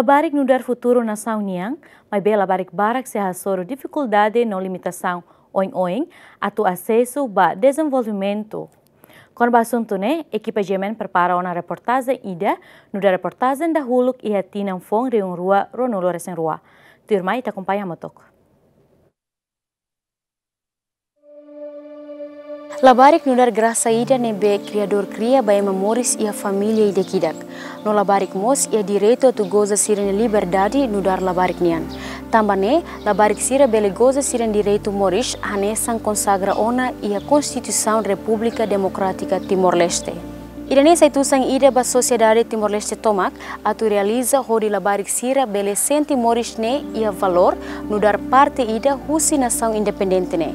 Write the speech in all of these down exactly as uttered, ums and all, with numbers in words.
Labarik nu'udar futuru nasaun nian, maibé labarik barak sei hasoru difikuldade no limitasaun oioin atu asesu ba dezenvolvimentu. Kona-ba asuntu ne'e, ekipa G M N prepara ona reportajen ida, nu'udar reportajen dahuluk iha tinan foun rihun rua ruanulu-resin-rua. Tuirmai ita akompaña hamutuk. Labarik nu'udar grasa ida ne'ebé Kriadór kria ba ema moris iha família ida-idak. No labarik mós iha direitu atu goza sira-nia liberdade nu'udar labarik nian. Tanba ne'e, labarik sira bele goza sira-nia direitu moris hanesan konsagra ona iha Konstituisaun Repúblika Demokrátika Timor-Leste. Ida-ne'e sai tusan ida ba sosiedade Timor-Leste tomak atu realiza hodi labarik sira bele sente moris ne'e iha valór nu'udar parte ida husi nasaun independente ne'e.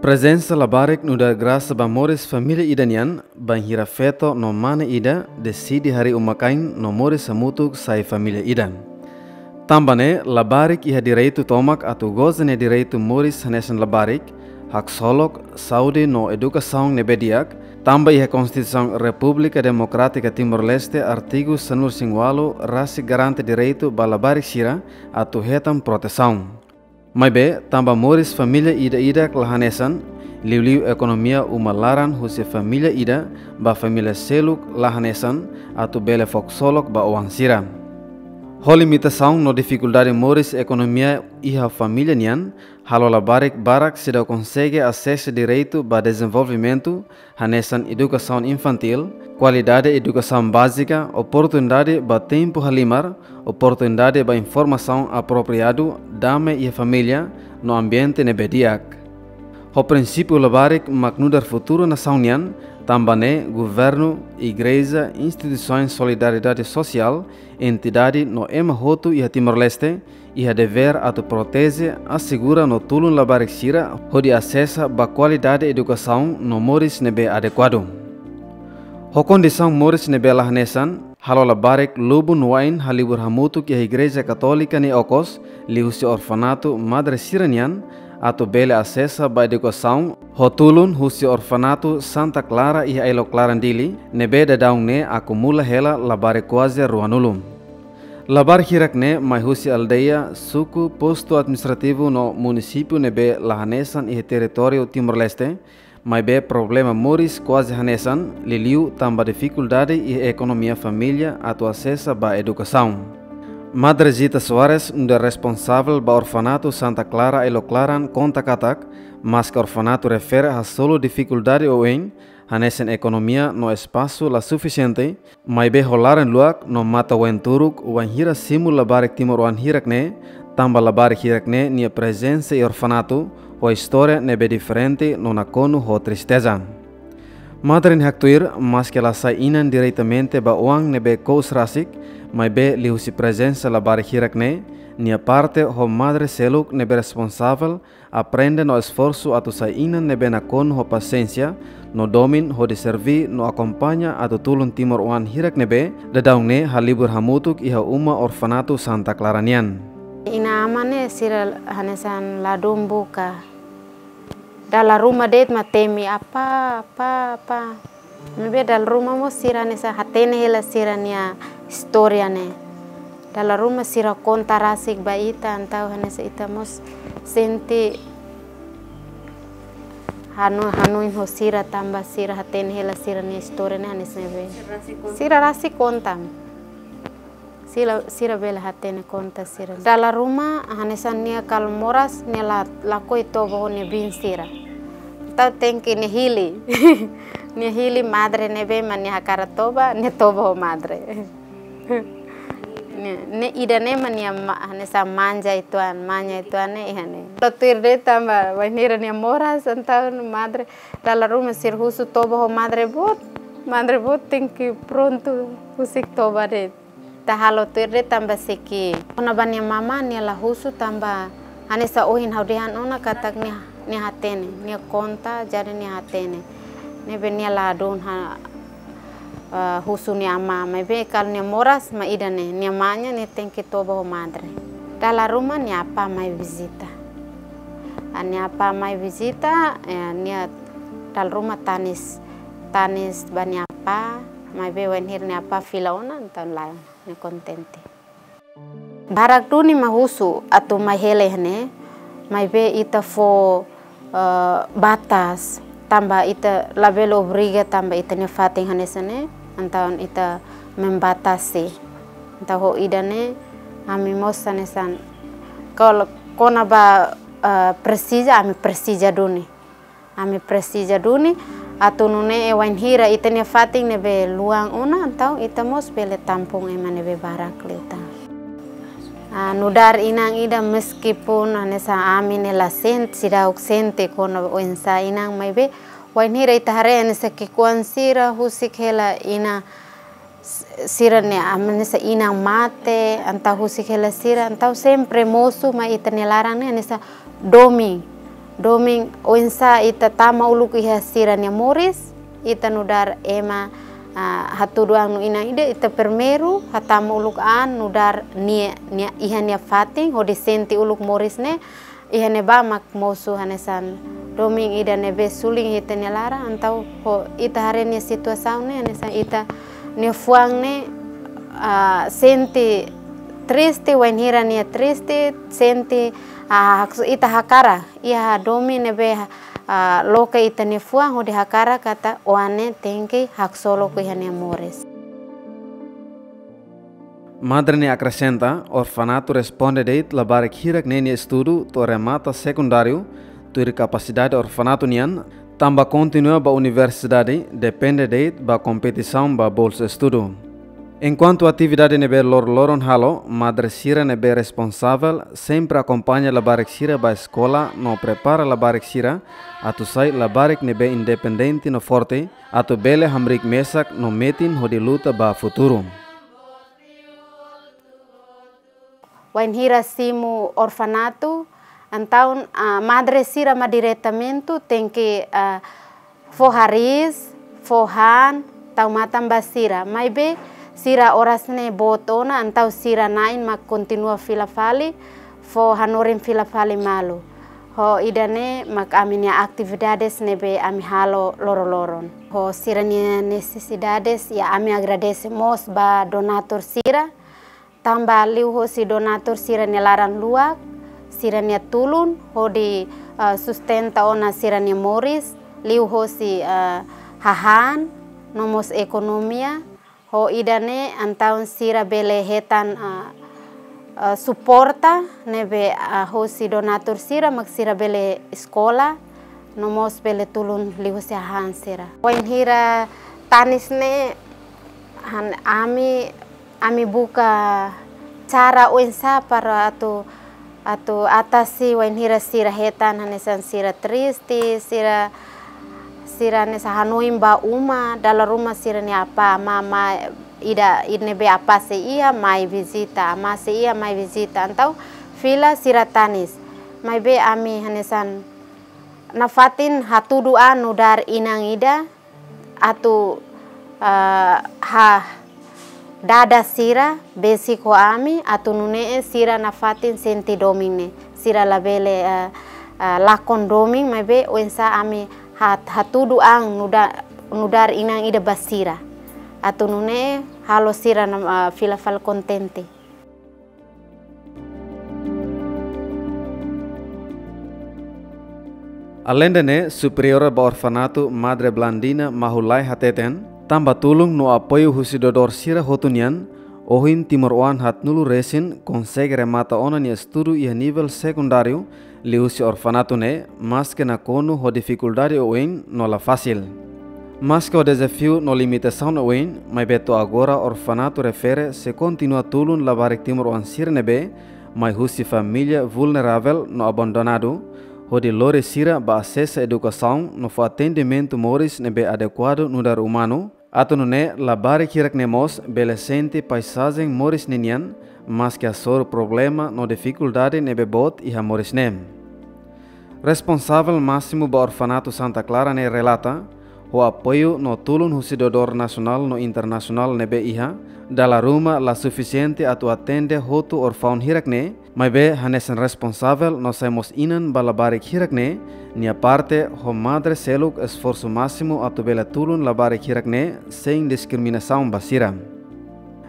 Prezensa labarik nu'udar grasa ba moris família ida nian, bainhira feto no mane ida deside harii uma-kain no moris hamutuk sai família ida. Tanba ne'e, labarik iha direitu tomak atu goza nia direitu moris hanesan labarik, haksolok, saúde no edukasaun ne'ebé di'ak, tanba iha Konstituisaun Repúblika Demokrátika Timor-Leste, artigu sanulu-resin-ualu, rasik garante direitu ba labarik sira atu hetan protesaun. Maibé, tanba moris família ida-idak la hanesan, liuliu ekonomia uma laran husi família ida ba família seluk la hanesan, atu bele fó ksolok ba oan sira. Ho limitasaun no difikuldade moris ekonomia iha família nian, halo labarik barak seidauk konsege asesu direitu ba dezenvolvimentu, hanesan edukasaun infantíl, kualidade edukasaun bázika, oportunidade ba tempu halimar, oportunidade ba informasaun apropriadu, dame iha família, no ambiente ne'ebé di'ak. Ho prinsípiu labarik mak nu'udar futuru nasaun nian, tanba ne'e governu, igreja, instituisoens solidariedade sosiál, entidade no ema hotu iha Timor-Leste, iha devér atu proteje, asegura no tulun labarik sira hodi asesa ba kualidade edukasaun no moris ne'ebé adekuadu. Ho kondisaun moris ne'ebé la hanesan, halo labarik lubun wa'in halibur hamutuk iha Igreja Katólika nia okos, liuhusi orfanatu madre sira-nian, atu bele asesa ba edukasaun, ho tulun husi orfanatu Santa Clara iha ailok laran Dili, ne'ebé daudaun ne'e akumula hela labarik kuaze ruanulu. Labarik hirak-ne'e mai husi aldeia, suku, postu administrativu no munisípiu ne'ebé la hanesan iha territóriu Timor-Leste, maibé problema moris kuaze hanesan, liuliu tanba difikuldade iha ekonomia família atu asesa ba edukasaun. Madre Zita Soares, nu'udar responsavel ba orfanatu Santa Clara ailok laran, konta katak, maske orfanatu refere hasoru difikuldade oioin, hanesan ekonomia no espasu la sufisiente, maibé ho laran luak no matan-ween turuk, wainhira simu labarik timoroan hirak-ne'e, tanba labarik hirak-ne'e nia prezensa iha orfanatu, ho istória ne'ebé diferente no nakonu ho tristeza. Madre nia haktuir, maske la sai inan diretamente ba oan ne'ebé kous rasik, maibé liuhusi prezensa labarik hirak-ne'e, nia parte ho madre seluk ne'ebé responsavel, aprende no esforsu atu sai inan ne'ebé nakonu ho pasiénsia, no domin hodi serví no akompaña atu tulun timoroan hirak ne'ebé daudaun ne'e halibur hamutuk iha uma orfanatu Santa Clara nian. Inan-aman ne'e sira hanesan ladún buka. Dala ruma de'it mak temi, "Apá, apá, apá." Maibé dala ruma mós sira hanesan hatene hela sira-nia istória ne'e. Dala ruma sira konta rasik ba ita, entaun hanesan ita mós sente hanu-, hanoin ho sira tanba sira hatene hela sira-nia istória ne'e hanesan ne'ebé. Sira rasik konta. Sira, sira bele hatene konta sira. Dala ruma, hanesan nia kalau moras, nia la, lakohi toba ho nia biin sira. Entaun tenke nia hili. Nia hili madre ne'ebé mak nia hakarak toba, nia toba ho madre. Nia, ne'e ida-ne'e mak nia ma-, hanesan manja uitoan, manja uitoan ne'e iha ne'e. Tuir de'it tanba, wainhira nia moras, entaun madre, dala ruma sira husu toba ho madre boot, madre boot tenke prontu husik toba de'it. Ita halo tuir de'it tanba siki. Kona-ba nia mamá nia la husu tanba hanesan ohin ha'u dehan ona katak nia, nia hatene, nia konta jadi nia hatene. Ne'ebé nia ladún ha, eh, husu nia amá, maibé kalau nia moras mak ida-ne'e, nia manja nia tenke toba ho madre. Dala ruma nia apá mai vizita. Nia apá mai vizita, eh, nia dala ruma tanis, tanis ba nia apá, maibé wainhira nia apá fila ona, entaun la'o, nia kontente. Barak duni mak husu atu mai hela iha ne'e, maibé ita fó, eh, batas, tanba ita labele obriga tanba ita-nia fatin hanesan ne'e, entaun ita membatasi. Entaun ho ida-ne'e, ami mós hanesan, kalau kona-ba, eh, presiza, ami presiza duni. Ami presiza duni, atu nune'e wainhira ita-nia fatin ne'ebé luan ona, entaun ita mós bele tampung ema ne'ebé barak liután. Ah, nu'udar inan ida meskipun hanesan ami ne'e la sente, seidauk sente kona oinsá inan, maibé wainhira ita haree hanesan ki'ikoan sira husik hela inan s-, sira-nia, ah, hanesan inan mate, entaun husik hela sira, entaun sempre mosu mai ita-nia laran ne'e hanesan domin. Domin oinsá ita tama uluk iha sira-nia moris, ita nu'udar ema, ah, hatudu an no inan ida, ita primeiru hatama uluk an nu'udar nia, nia, iha nia fatin, hodi sente uluk moris ne'e, iha ne'ebá mak mosu hanesan domin ida ne'ebé suli iha ita-nia laran, entaun ho ita haree nia situasaun ne'e hanesan ita-nia fuan ne'e, ah, sente triste, wainhira nia triste, sente, ah, hak-, ita hakarak, iha domin ne'ebé, ah, loke ita-nia fuan hodi hakarak katak oan ne'e tenke haksolok iha nia moris. Madre ne'e akresenta, orfanatu responde de'it labarik hirak ne'e nia estudu to'o remata sekundáriu, tuir kapasidade orfanatu nian, tanba kontinua ba universidade depende de'it ba kompetisaun ba bolsa estudu. Enkuantu atividade ne'ebé loroloron halo, madre sira ne'ebé responsavel sempre akompaña labarik sira ba eskola no prepara labarik sira atu sai labarik ne'ebé independente no forte, atu bele hamriik mesak no metin hodi luta ba futuru. Wainhira simu orfanatu, entaun, ah, madre sira mak diretamente tenke, ah, fó hariis, fó han, tau matan ba sira. Maibé sira oras ne'e boot ona, entaun sira na'in mak kontinua fila fali, fó hanorin fila fali malu. Ho ida-ne'e mak ami-nia atividades ne'ebé ami halo loroloron. Ho sira-nia nesesidades, iha ami agradese mós ba donatur sira, tanba liuhosi donatur sira-nia laran luak, sira-nia tulun, hodi, eh, sustenta ona sira-nia moris, liuhosi, eh, hahán, no mós ekonomia, ho ida-ne'e entaun sira bele hetan, ah, ah, suporta ne'ebé, ah, hosi donatur sira mak sira bele eskola, no mós bele tulun liuhosi hahán sira. Wainhira tanis ne'e han ami, ami buka cara oinsá para atu atu atasi wainhira sira hetan hanesan sira triste, sira, sira hanesan hanoin ba uma, dala ruma sira-nia apá, amá, amá, ida, ida ne'ebé apá sei iha, mai vizita, amá sei iha, mai vizita. Entaun fila sira tanis. Maibé ami hanesan nafatin hatudu an nu'udar inan ida, atu, eh, ha dada sira besik ho ami, atu nune'e sira nafatin sente domin ne'e. Sira labele, eh, eh, lakon domin, maibé oinsá ami ha-, hatudu an nu'uda-, nu'udar inan ida ba sira. Atu nune'e halo sira na, eh, fila fali kontente. Aleinde ne'e, superiora ba orfanatu Madre Blandina Mahulai hateten, tanba tulun no apoiu husi doadór sira hotu nian, ohin timoroan haatnulu resin konsege remata ona nia estudu iha nivel sekundáriu, liuhusi orfanatu ne'e, maske nakonu ho difikuldade oioin no la fasil. Maske ho dezafiu no limitasaun oioin, maibé to'o agora orfanatu refere sei kontinua tulun labarik timoroan sira ne'ebé mai husi família vulneravel no abandonadu, hodi lori sira ba asesu edukasaun no fó atendimentu moris ne'ebé adekuadu nu'udar umanu, atu nune'e labarik hirak ne'e mós bele sente paisajen moris ninian, maske hasoru problema no difikuldade ne'ebé boot iha moris ne'e. Responsavel másimu ba orfanatu Santa Clara ne'e relata, Ho apoiu no tulun husi doadór nasionál no internasionál ne'ebé iha, dala ruma la sufisiente atu atende hotu orfaun hirak-ne'e, maibé hanesan responsavel no sai mós inan ba labarik hirak-ne'e, nia parte ho madre seluk esforsu másimu atu bele tulun labarik hirak-ne'e sein diskriminasaun ba sira.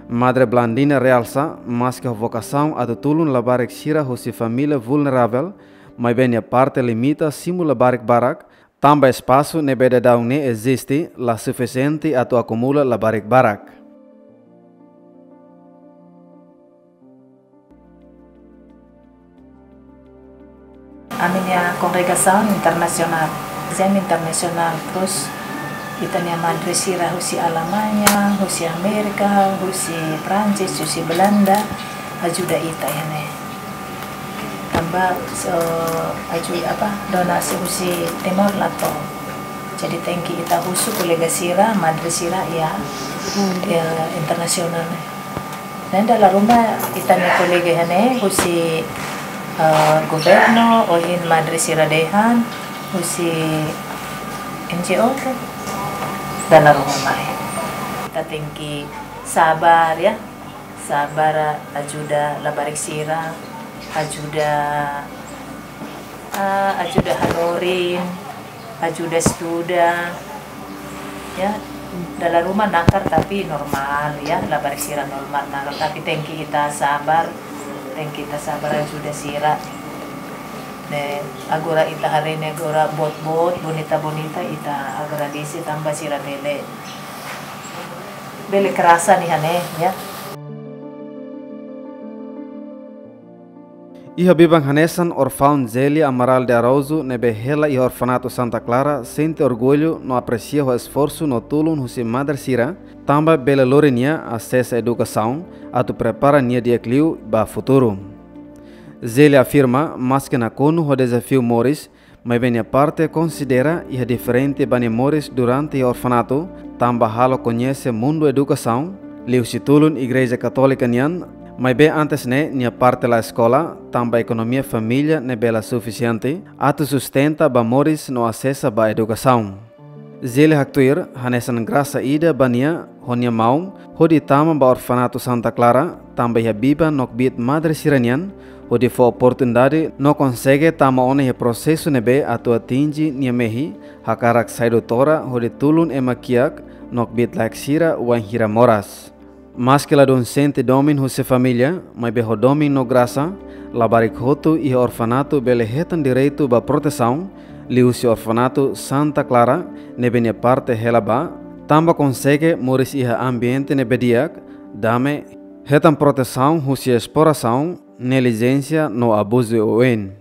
Madre Blandina realsa, maske ho vokasaun atu tulun labarik sira husi família vulneravel, maibé nia parte limita simu labarik barak, tanba espasu ne'ebé daudaun ne'e eziste la sufisiente atu akumula labarik barak. Ami-nia kongregasaun internasionál, jam internasionál, terus ita-nia madre sira husi Alemanha, husi Amérika, husi Prancis, husi Belanda, ajuda ita iha ne'e. Tanba, so, aju apa, donasi husi Timor la to'o. Jadi tenke ita husu kolega sira, madre sira iha, iha internasionál ne'e. Ne'e dala ruma ita-nia kolega iha ne'e husi, eh, governu, ohin madre sira dehan, husi N G O ka? Dala ruma mai. Ita tenke sabar ya. Sabar, ajuda labarik sira, ajuda, ah, ajuda hanorin, ajuda estuda. Ya, dala ruma nakar tapi normál ya, labarik sira normál nakar, tapi tenke ita sabar, tenke ita sabar ajuda sira. Ne'e, agora ita haree ne'e agora boot-boot, bonita-bonita, ita agradese tanba sira bele, bele krasa nia ne'e, ya. Iha biban hanesan orfaun Zélia Amaral de Araújo ne'ebé hela iha orfanatu Santa Clara sente orgullu no apresia ho esforsu no tulun husi madre sira, tanba bele lori nia asesa edukasaun, atu prepara nia di'ak liu ba futuru. Zélia afirma, maske nakonu ho dezafiu moris, maibé nia parte konsidera iha diferente ba nia moris durante iha orfanatu, tanba halo koñese mundu edukasaun, liuhusi tulun Igreja Katólika nian, maibé antes ne'e nia parte la eskola, tanba ekonomia família ne'ebé la sufisiente atu sustenta ba moris no asesa ba edukasaun. Zélia haktuir, hanesan grasa ida ba nia ho nia maun, hodi tama ba orfanatu Santa Clara, tanba iha biban no kbiit madre sira-nian, hodi fó oportunidade no konsege tama ona iha prosesu ne'ebé atu atinje nia mehi, hakarak sai doutora, hodi tulun ema kiak no kbiit-laek sira wainhira moras. Maske ladún sente domin husi família, maibé ho domin no grasa, labarik hotu iha orfanatu bele hetan direitu ba protesaun, liuhusi orfanatu Santa Clara, ne'ebé nia parte hela ba, tanba konsege moris iha ambiente ne'ebé di'ak, dame, hetan protesaun husi esplorasaun, neglijénsia no abuzu oioin.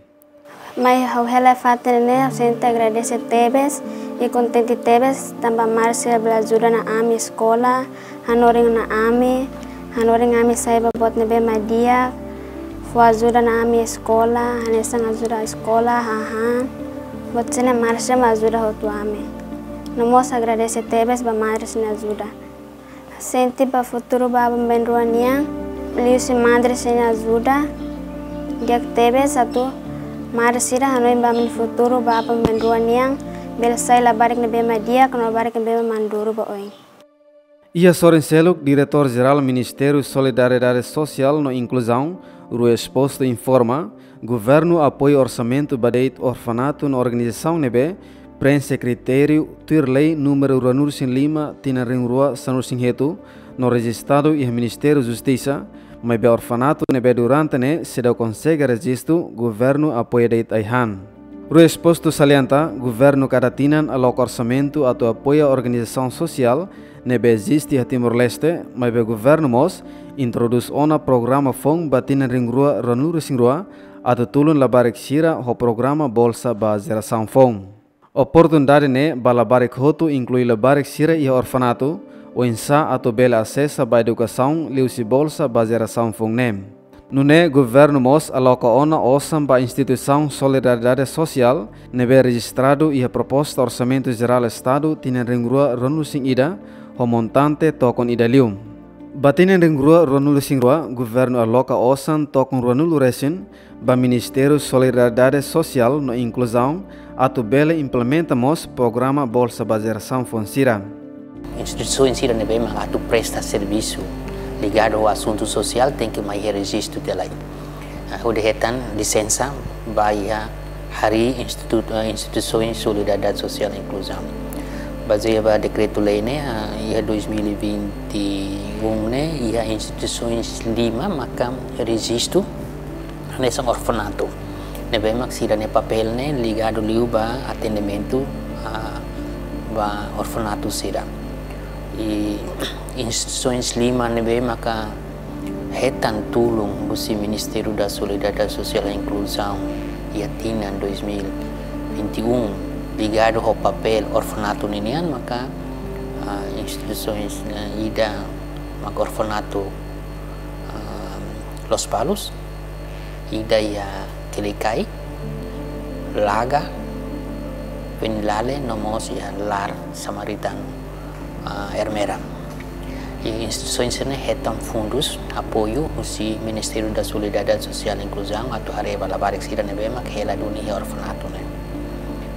Mai ha'u hela iha fatin ne'e, ha'u sente agradese tebes i kontente tebes, tanba madre sira bele ajuda ona ami eskola, hanorin ona ami, hanorin ami sai ba buat ne'ebé mak di'ak, fó ajuda ona ami eskola, hanesan ajuda eskola, hahán, buat sira-ne'e madre sira mak ajuda hotu ami. No mós agradese tebes ba madre sira-nia ajuda. Sente ba futuru ba aban-bainrua nian, liuhusi madre sira-nia ajuda, di'ak tebes atu madre sira hanoin ba ami-nia futuru ba aban-bainrua nian, bele sai labarik ne'ebé mak di'ak, no labarik ne'ebé mak maduru ba oin. Iha sorin seluk, Diretór Jerál Ministériu Solidariedade Sosiál no Inkluzaun, Rui Exposto informa, governu apoia orsamentu ba de'it orfanatu no organizasaun ne'ebé preenxe kritériu tuir lei númeru ruanulu-resin-lima tinan rihun rua sanulu-resin-hitu no rejistadu iha Ministériu Justisa, maibé orfanatu ne'ebé durante ne'e seidauk konsege rejistu, governu apoia de'it ai-han. Rui Exposto salienta, governu kada tinan aloka orsamentu atu apoia organizasaun sosiál ne'ebé eziste iha Timor-Leste, maibé governu mós introdús ona programa foun ba tinan rihun rua ruanulu-resin-rua, atu tulun labarik sira ho programa Bolsa ba Jerasaun Foun. Oportunidade ne'e ba labarik hotu, inklui labarik sira iha orfanatu, oinsá atu bele asesa ba edukasaun liuhusi Bolsa ba Jerasaun Foun ne'e. Nune'e governu mós aloka ona osan ba instituisaun solidariedade sosiál ne'ebé rejistradu iha proposta Orsamentu Jerál Estadu tinan rihun rua ruanulu-resin-ida, ho montante tokon ida liu. Ba tinan rihun rua ruanulu-resin-rua, governu aloka osan tokon ruanulu-resin ba Ministériu Solidariedade Sosiál no Inkluzaun atu bele implementa mós programa Bolsa ba Jerasaun Foun sira. Instituisaun sira ne'ebé mak atu presta servisu ligadu ho asuntu sosiál tenke mai rejistu tiha lai. Ah, hodi hetan lisensa ba iha harii institu-, eh, Instituisaun Solidariedade Sosiál Inkluzaun. Bazeia ba dekretu-lei ne'e, ah, iha dois mil e vinte e um ne'e, iha instituisaun lima maka rejistu hanesan orfanatu. Ne'ebé mak sira-nia papél ne'e ligadu liu ba atendimentu, ah, ba orfanatu sira. I instituisaun lima ne'ebé maka hetan tulun husi Ministériu da Solidariedade Sosiál e Inkluzaun iha tinan dois mil e vinte e um, ligadu ho papél orfanatu ninian maka, ah, instituisaun, eh, ida maka orfanatu, ah, Lospalos, ida iha Quelicai, Laga, Venilale, no mós iha Lar Samaritanu, ah, Ermera. I instituisaun sira-ne'e hetan fundus apoiu husi Ministériu da Solidariedade Sosiál e Inkluzaun atu haree ba labarik sira ne'ebé mak hela duni iha orfanatu ne'e.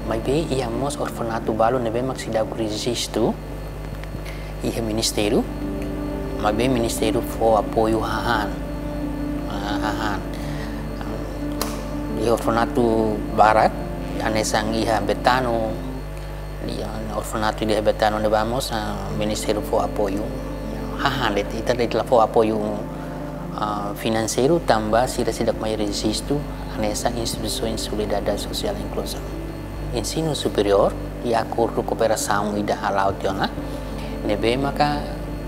Maibé iha mós orfanatu balu ne'ebé mak seidauk rejistu iha ministériu, maibé ministériu fó apoiu hahán. Ah, hahán. Iha orfanatu barak, hanesan iha Betano, iha orfanatu iha Betano ne'ebá mós, ah, ministériu fó apoiu hahán de'it, ita de'it la fó apoiu, ah, finanseiru tanba sira seidauk mai rejistu hanesan instituisaun solidariedade sosiál inkluzaun. Ensinu superiór, iha akordu kooperasaun ida hala'o tiha ona, ne'ebé maka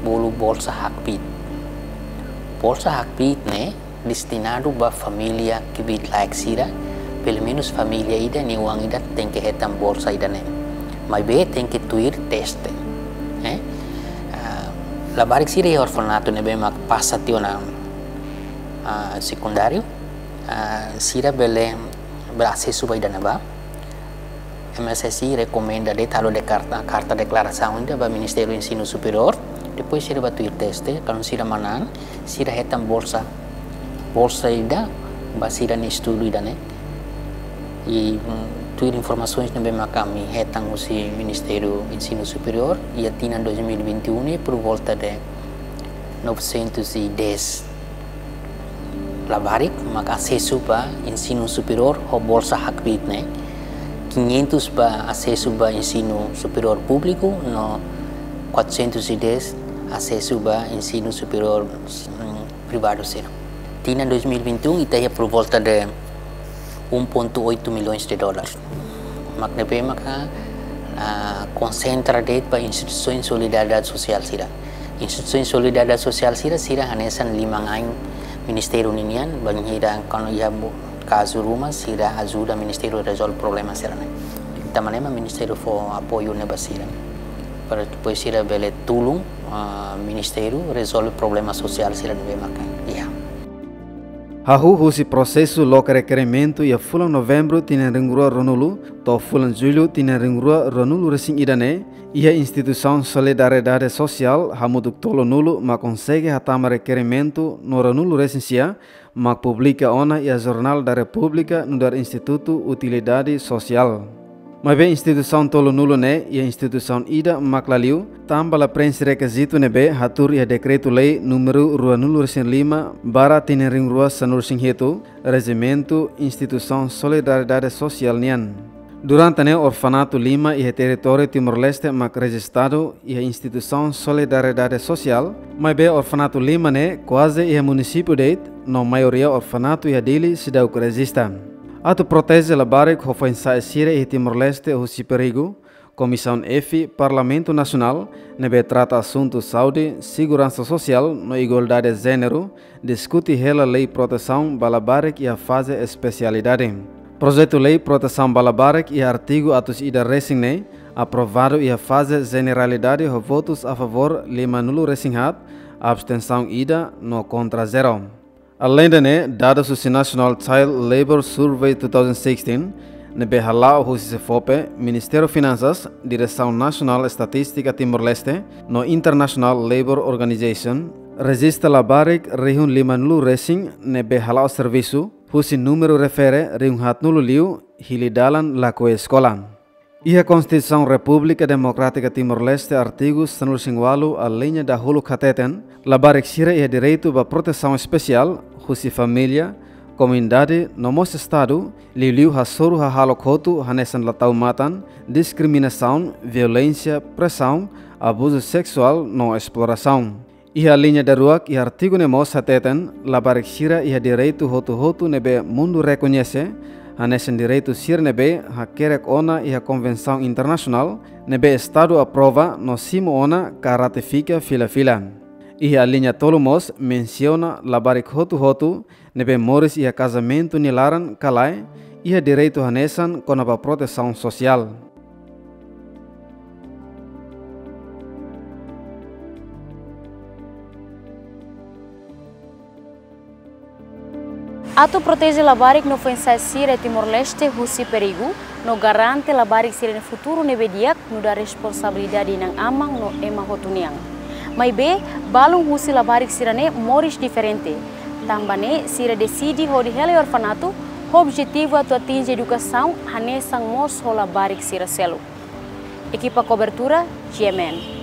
bolu bolsa hakbiit. Bolsa hakbiit ne'e destinadu ba família kbiit-laek sira, pelumenus família ida nia oan ida tenke hetan bolsa ida-ne'e. Maibé tenke tuir teste. Eh? Ah, labarik sira iha orfanatu ne'ebé mak pasa tiha ona, ah, sekundáriu, ah, sira bele, bele asesu ba ida-ne'ebá. M S S I rekomenda de'it halo de karta, karta deklarasaun ida ba Ministériu Ensinu Superiór. Depois sira bá tuir teste, kuandu sira manán, sira hetan bolsa, bolsa ida ba sira-nia estudu ida-ne'e. I, mm, tuir informasaun ne'ebé maka ami hetan husi Ministériu Ensinu Superiór, iha tinan dois mil e vinte e um ne'e por volta de novecentos e dez labarik maka asesu ba ensinu superiór ho bolsa hakbiit ne'e. Quinhentos ba asesu ba ensinu superiór públiku, no quatrocentos e dez asesu ba ensinu superiór, mm, privadu sira. Tinan dois mil e vinte e um, ita iha por volta de um ponto oito milhões de dólares. Mak ne'ebé maka, ah, konsentra de'it ba instituisaun solidariedade sosiál sira. Instituisaun solidariedade sosiál sira, sira hanesan liman-ain ministériu ninian, bainhira kuandu iha bo-, kazu ruma, sira ajuda ministériu rezolve problema sira-ne'e. Tanba ne'e mak ministériu fó apoiu ne'e ba sira. Para depois sira bele tulun, ah, ministériu rezolve problema sosiál sira ne'ebé maka iha. Hahú husi prosesu loke rekerimentu iha fulan Novembru tinan rihun rua ruanulu, to'o fulan Jullu tinan rihun rua ruanulu-resin-ida ne'e, iha instituisaun solidariedade sosiál hamutuk tolunulu mak konsege hatama rekerimentu no ruanulu-resin-sia mak publika ona iha Jornál da Repúblika nu'udar Institutu Utilidade Sosiál. Maibé instituisaun tolunulu ne'e iha instituisaun ida mak la liu, tanba la preenxe rekizitu ne'ebé hatuur iha Dekretu-Lei númeru ruanulu-resin-lima barra tinan rihun rua sanulu-resin-hitu, Rejimentu Instituisaun Solidariedade Sosiál nian. Durante ne'e orfanatu lima iha territóriu Timor-Leste mak rejistadu iha instituisaun solidariedade sosiál, maibé orfanatu lima ne'e kuaze iha munisípiu de'it, no maioria orfanatu iha Dili seidauk rejista. Atu proteje labarik ho foin-sa'e sira iha Timor-Leste husi perigu, Komisaun F Parlamentu Nasionál ne'ebé trata asuntu saúde, seguransa sosiál no igualdade jéneru diskute hela Lei Protesaun ba Labarik iha faze espesialidade. Projetu Lei Protesaun ba Labarik iha artigu atus ida resin ne'e aprovadu iha faze jeneralidade ho votus a favór limanulu-resin-haat, abstensaun ida no kontra zero. Aleinde ne'e, dadus husi National Child Labour Survey two thousand sixteen, ne'ebé hala'o husi SEFOPE, Ministériu Finansas, Diresaun Nasionál Estatístika Timor-Leste, no International Labour Organization, rejista labarik rihun lima-nulu resin ne'ebé hala'o servisu, husi númeru refere rihun haat-nulu liu, hili dalan lakohi eskola. Iha Konstituisaun Repúblika Demokrátika Timor-Leste, artigu sanulu-resin-ualu, aliña dahuluk hateten, labarik sira iha direitu ba protesaun espesiál husi família, komunidade no mós Estadu, liuliu hasoru hahalok hotu hanesan la tau matan, diskriminasaun, violénsia, presaun, abuzu seksuál no esplorasaun. Iha aliña daruak iha artigu ne'e mós hateten, labarik sira iha direitu hotu-hotu ne'ebé mundu rekoñese, hanesan direitu sira ne'ebé hakerek ona iha konvensaun internasionál ne'ebé Estadu aprova no simu ona ka ratifika fila-fila. Iha aliña tolu mós mensiona labarik hotu-hotu ne'ebé moris iha kazamentu nia laran ka lae, iha direitu hanesan kona-ba protesaun sosiál. Atu proteje labarik no foin-sa'e sira Timor-Leste husi perigu, no garante labarik sira-nia futuru ne'ebé di'ak, nu'udar responsabilidade inan-aman no ema hotu nian. Maibé, balun husi labarik sira-ne'e moris diferente. Tanba ne'e, sira deside hodi hela iha orfanatu, ho objetivu atu atinje edukasaun, hanesan mós ho labarik sira seluk. Ekipa kobertura, G M N.